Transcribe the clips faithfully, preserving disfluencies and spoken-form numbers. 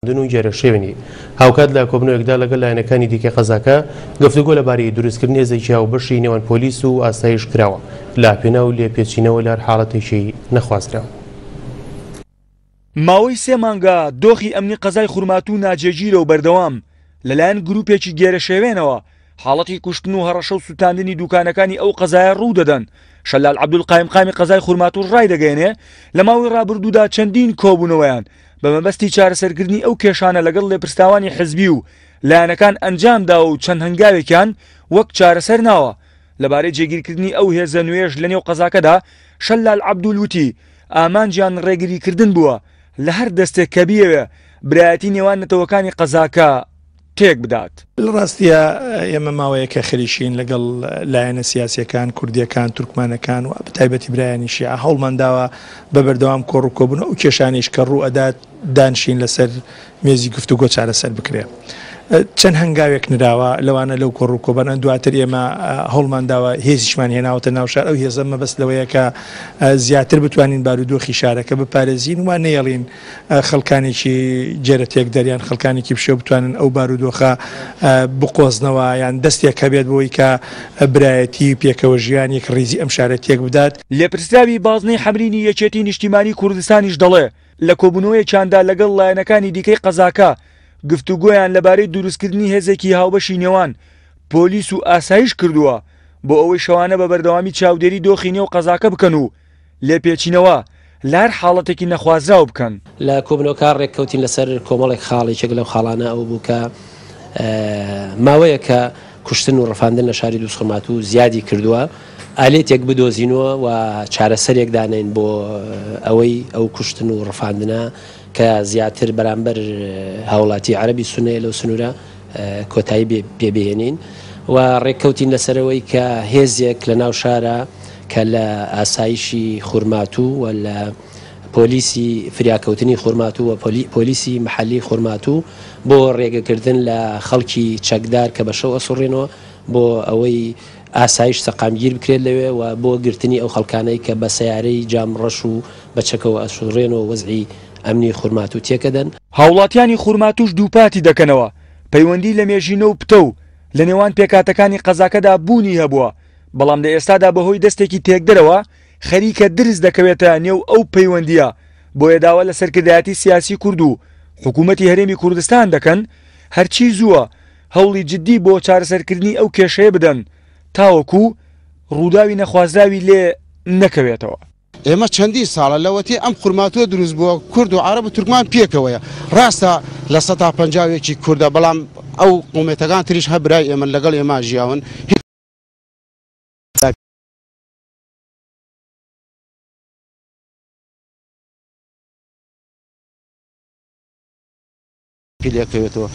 و گێرەشێوێنی. هاوکات لە کۆبنەوەیەکدا لەگەڵ لایەنەکانی دیکەی قەزاکە گفتوگۆ لەبارەی دروستکردنی هێزێکی هاوبەشی نێوان پۆلیس و ئاسایش کراوە لە پێناو لێپێچینەوە لە هەر حاڵەتێکی نەخوازراو. ماوەی سێ مانگە دۆخی ئەمنی قەزای خورماتوو ناجێگیرە و بەردەوام لەلایەن گروپێکی گێرەشێوێنەوە حاڵەتی کوشتن و هەڕەشە و سووتاندنی دوکانەکانی ئەو قەزایە ڕوو دەدەن. شەلال عەبدول قایمقامی قەزای خورماتوو ڕایدەگەیەنێ لە ماوەی ڕابردوودا چەندین کۆبوونەوەیان بە مەبەستی چارەسەرکردنی ئەو کێشانە لەگەڵ لێپرسراوانی حزبی و لایەنەکان ئەنجام داوە و چەند هەنگاوێکیان وەک چارەسەر ناوە. لەبارەی جێگیرکردنی ئەو هێزە نوێژ لە نێو قەزاکەدا شەلال عەبدول وتی ئامانجیان ڕێگریکردن بووە لە هەر دەستێک کە بیەوێ برایەتی نێوان نەتەوەکانی قەزاکە تێک بدات. لە ڕاستیە ئێمە ماوەیەکە خەریکین لەگەڵ لایەنە سیاسیەکان، کوردیەکان، تورکمانەکان و بەتایبەتی برایانی شیعە هەوڵمان داوە بە بەردەوام کۆڕ و کۆبوون ئەو کێشانەیش کە ڕوو ئەدات دانشین لەسەر مێزی گفتوگۆ چارەسەر بکرێ. چەند هەنگاوێک نراوە لەوانە لەو کۆڕ و کۆبەنە دواتر ئێمە هەوڵمان داوە هێزیشمان هێناوەتە ناو شار. ئەو هێزە مەبەست لەوەیە کە زیاتر بتوانین بارودۆخی شارەکە بپارێزین و نەیەڵین خەڵکانێکی جێرە تێکدەریان خەڵکانێکی بشێو بتوانن ئەو بارودۆخە بقۆزنەوە یان دەستێک هەبێت بۆی کە برایەتی پێکەوە ژیان یەک ڕیزی ئەم شارە تێک بدات. لێپرسراوی بازنەی حەمرینی یەکێتی نیشتیمانی کوردستانیش دەڵێ لە کۆبوونەوەیەکیاندا لەگەڵ لایەنەکانی دیکەی قەزاکە گفتوگۆیان لەبارەی دروستکردنی هێزێکی هاوبەشی نێوان پۆلیس و ئاسایش کردووە بۆ ئەوەی شەوانە بە بەردەوامی چاودێری دۆخی نێو قەزاکە بکەن و لێپێچینەوە لە هەر حاڵەتێکی نەخوازراو بکەن. لە کۆبنەوەکە ڕێککەوتین لەسەر کۆمەڵێک خاڵ، یەکێک لەو خاڵانە ئەو بوو کە ماوەیەکە کوشتن و ڕفاندن لە شاری دووزخورماتوو زیادی کردووە، ئالێتێک بدۆزینەوە و چارەسەرێک دانین بۆ ئەوەی ئەو کوشتن و ڕفاندنە کە زیاتر بەرامبەر هاوڵاتی عەرەبی سوننەیە لەو سنوورە کۆتایی پێبهێنین و ڕێککەوتین لەسەرەوەی کە هێزێک لە ناو شارە کە لە ئاسایشی خورماتوو و لە پۆلیسی فریاکەوتنی خورماتوو و پۆلیسی محەلی خورماتوو بۆ ڕێگەکردن لە خەڵکی چەکدار کە بە شەو ئەسوڕێنەوە بۆ ئەوەی ئاسایش سەقامگیر بکرێت لەوێ و بۆ گرتنی ئەو خەڵکانەی کە بە سیارەی جام ڕەش و بە چەکەوە ئەسوڕێنەوە وەزعی ئەمنی خورماتوو تێکەدەن. هاوڵاتیانی خورماتووش دووپاتی دەکەنەوە پەیوەندی لە مێژینە و پتە و لە نێوان پێکاتەکانی قەزاکەدا بوونی هەبووە، بەڵام لە ئێستادا بەهۆی دەستێکی تێکدەرەوە خەریکە درز دەکەوێتە نێو ئەو پەیوەندیە، بۆیە داوا لە سەرکردایەتی سیاسی کورد و حکوومەتی هەرێمی کوردستان دەکەن هەرچی زووە هەوڵی جدی بۆ چارەسەرکردنی ئەو کێشەیە بدەن تاوەکو ڕووداوی نەخوازراوی لێ نەکەوێتەوە. ئێمە چەندین ساڵە لەوەتی ئەم خورماتووە دروست بووە کورد و عەرەب و تورکمان پێکەوەیە. ڕاستە لە سەدا پەنجاوێکی کوردە، بەڵام ئەو قومێتەکان تریش هەر برای ئێمە لەگەڵ ئێمە ژیاون.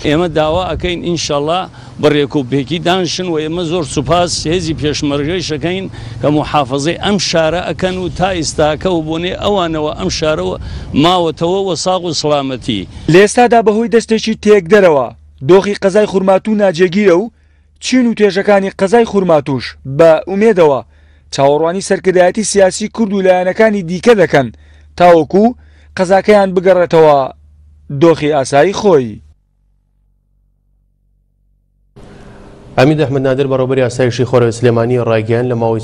ئێمە داوا ئەەکەین ئینشەڵڵا بە ڕێکوپێکی دانشن و ئێمە زۆر سوپاس هێزی پێشمەرگەیش ئەکەین کە محافظەی ئەم شارە ئەکەن و تا ئێستاکە و بۆنێ ئەوانەوە ئەم شارەوە ماوەتەوە وە ساغ و سڵامەتی. لە ئێستادا بەهۆی دەستێکی تێکدەرەوە دۆخی قەزای خورماتوو ناجێگیرە و چین و توێژەکانی قەزای خورماتووش بە ئومێدەوە چاوەڕوانی سەرکردایەتی سیاسی کورد و لایەنەکانی دیکە دەکەن تاوەکو قەزاکەیان بگەڕێتەوە دۆخی ئاسایی خۆی. ئەمید ئەحمەد نادر بەڕێوەبەری ئاسایشی خۆرەوەی سلێمانی ڕایگەیاند لە ماوەی